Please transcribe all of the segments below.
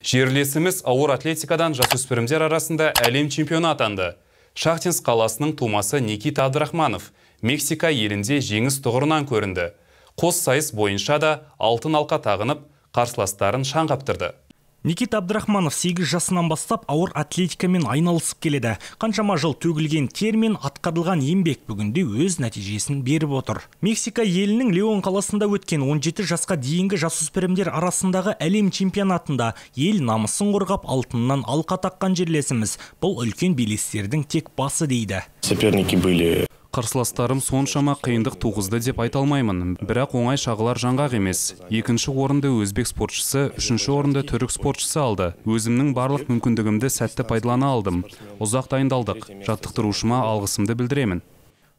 Жерлесіміз ауыр атлетикадан жасөспірімдер арасында әлем чемпионы атанды. Шахтинск қаласының тумасы Никита Абдрахманов Мексика елінде жеңіс тұғырынан көрінді. Қос сайыс бойынша да алтын алқа тағынып, қарсыластарын шаң қаптырды. Никита Абдрахманов 8 жасынан бастап ауыр атлетикамен айналысып келеді. Қаншама жыл төгілген тер мен атқарылған еңбек бүгінде өз нәтижесін беріп отыр. Мексика елінің Леон қаласында өткен 17 жасқа дейінгі жасөспірімдер арасындағы әлем чемпионатында ел намысын қорғап алтыннан алқа таққан жерлесіміз. Бұл үлкен белестердің тек басы дейді. Соперники были. Қарсыластарым соншама қиындық туғызды деп айта алмаймын, бірақ оңай шағылар жаңғақ емес. Екінші орынды өзбек спортшысы, үшінші орынды түрік спортшысы алды. Өзімнің барлық мүмкіндігімді сәтті пайдалана алдым. Ұзақ дайындалдық. Жаттықтырушыма алғысымды білдіремін.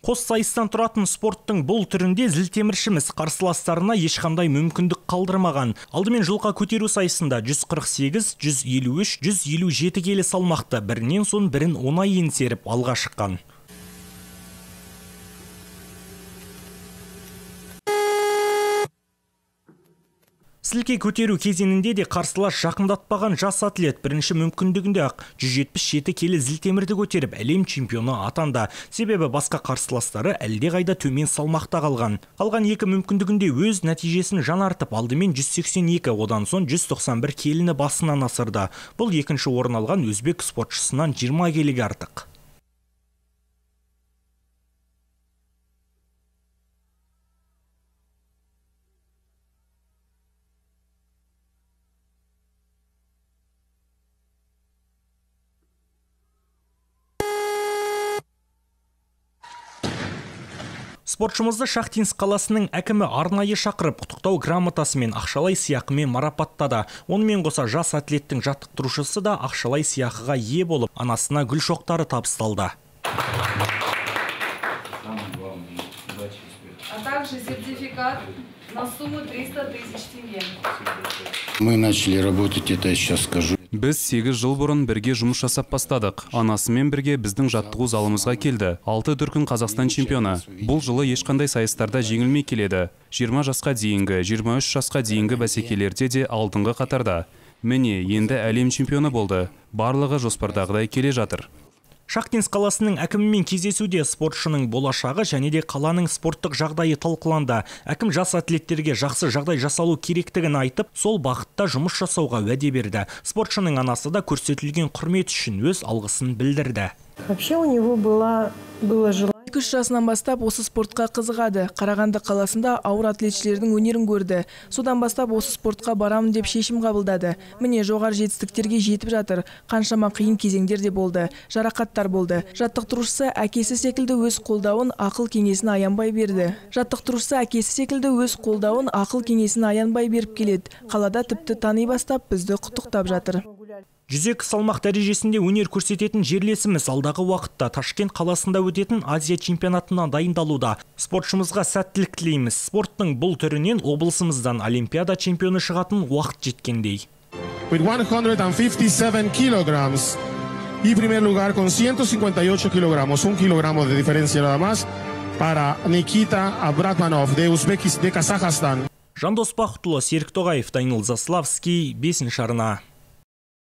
Қос сайыстан тұратын спорттың бұл түрінде зілтеміршіміз қарсыластарына ешқандай мүмкіндік қалдырмаған. Алдымен жылға көтеру сайысында 148, 153, 157 келі салмақты бірінен соң бірін оңай еңсеріп алға шыққан. Сілке көтеру кезеңінде де қарсылас жақындатпаған жас атлет бірінші мүмкіндігінде ақ 177 келі зілтемірді көтеріп әлем чемпионы атанды. Себебі басқа қарсыластары әлдеқайда төмен салмақта қалған. Қалған екі мүмкіндігінде өз нәтижесін жаңартып, алдымен 182, одан соң 191 келіні басынан асырды. Бұл екінші орын алған өзбек спортшысынан 20 келіге артық. Спортшымызды Шахтинск қаласының әкімі арнайы шақырып, құттықтау грамотасы мен ақшалай сыйақымен марапаттады. Онымен қоса жас атлеттің жаттықтырушысы да ақшалай сыйақыға ие болып, анасына гүл шоқтары табысталды. А также сертификат на сумму 300 тысяч тенге. Мы начали работать, это сейчас скажу. Біз 8 жыл бұрын бірге жұмыс жасап бастадық. Анасымен бірге біздің жаттығу залымызға келді. 6 дүркін Қазақстан чемпионы. Бұл жылы ешқандай сайыстарда жеңілмей келеді. 20 жасқа дейінгі, 23 жасқа дейінгі бәсекелерде де алдыңғы қатарда. Міне, енді әлем чемпионы болды. Барлығы жоспардағыдай келе жатыр. Шахтинск қаласының әкімімен кездесуде спортшының болашағы және де қаланың спорттық жағдайы талқыланды. Әкім жас атлеттерге жақсы жағдай жасалу керектігін айтып, сол бағытта жұмыс жасауға уәде берді. Спортшының анасы да көрсетілген құрмет үшін өз алғысын білдірді. Вообще у него было желание. 3 жасынан бастап осы спортқа қызығады. Қарағанды қаласында ауыр атлетшілердің өнерін көрді. Содан бастап осы спортқа барамын деп шешім қабылдады. Міне жоғары жетістіктерге жетіп жатыр. Қаншама қиын кезеңдер де болды. Жарақаттар болды. Жаттықтырушысы әкесі секілді өз қолдауын, ақыл кеңесін аянбай берді. Беріп келеді. Қалада тіпті тани бастап бізді құттықтап жатыр. 102 салмақ дәрежесінде өнер көрсететін жерлесіміз алдағы уақытта Ташкент қаласында өтетін Азия чемпионатына дайындалуда. Спортшымызға сәттілік тілейміз. Спорттың бұл түрінен облысымыздан олимпиада чемпионы шығатын уақыт жеткендей. With 157 kilograms y primer lugar con 158 kilogramos, 1 kilogramo de diferencia nada más para Nikita Abdrahmanov de Uzbekistan, de Kazajstан. Жандос Бақытұлы, Серік Тоғаев, Данил Заславский, 5-ші арна.